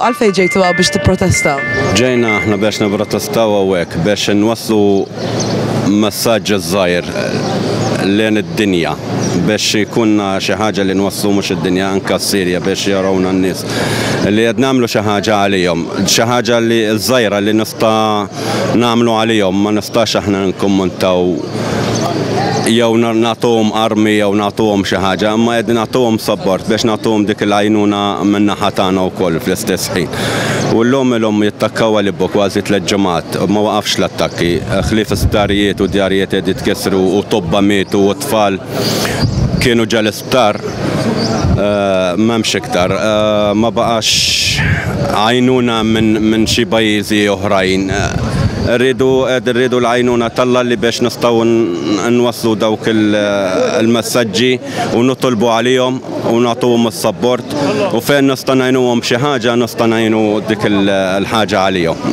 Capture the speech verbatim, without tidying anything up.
Għalfejn ġejtu hawn biex tipprotestaw? Ġejna aħna biex niprotestaw hawnhekk biex nwasslu messaġġ żgħir lejn id-dinja biex ikunna xi ħaġa li nwasslu mhux id-dinja anke s-Sirja biex jarawna n-nies li qed nagħmlu xi ħaġa għalihom, xi ħaġa li żgħira li nista' nagħmlu għalihom, ma nistax aħna nkommentaw jew nagħtuhom armi jew nagħtuhom xi ħaġa, imma qed nagħtuhom support biex nagħtuhom dik il-għajnuna min-naħa tagħna wkoll fl-istess ħin. U llum ilhom jittakkaw Aleppo kważi tliet ġimgħat, ma waqafx l-attakki, ħlief isptarijiet u djarijiet qed jitkissru u tobba mietu u tfal kienu ġa l-isptar m'hemmx iktar, ma baqax għajnuna minn xi pajjiżi oħrajn. Rridu rridu l-għajnuna t'Alla li biex nistgħu nwasslu dawk il-messaġġi u nitolbu għalihom u nagħtuhom is-support u fejn nista' ngħinuhom xi ħaġa nista' ngħinu dik il-ħaġa għalihom.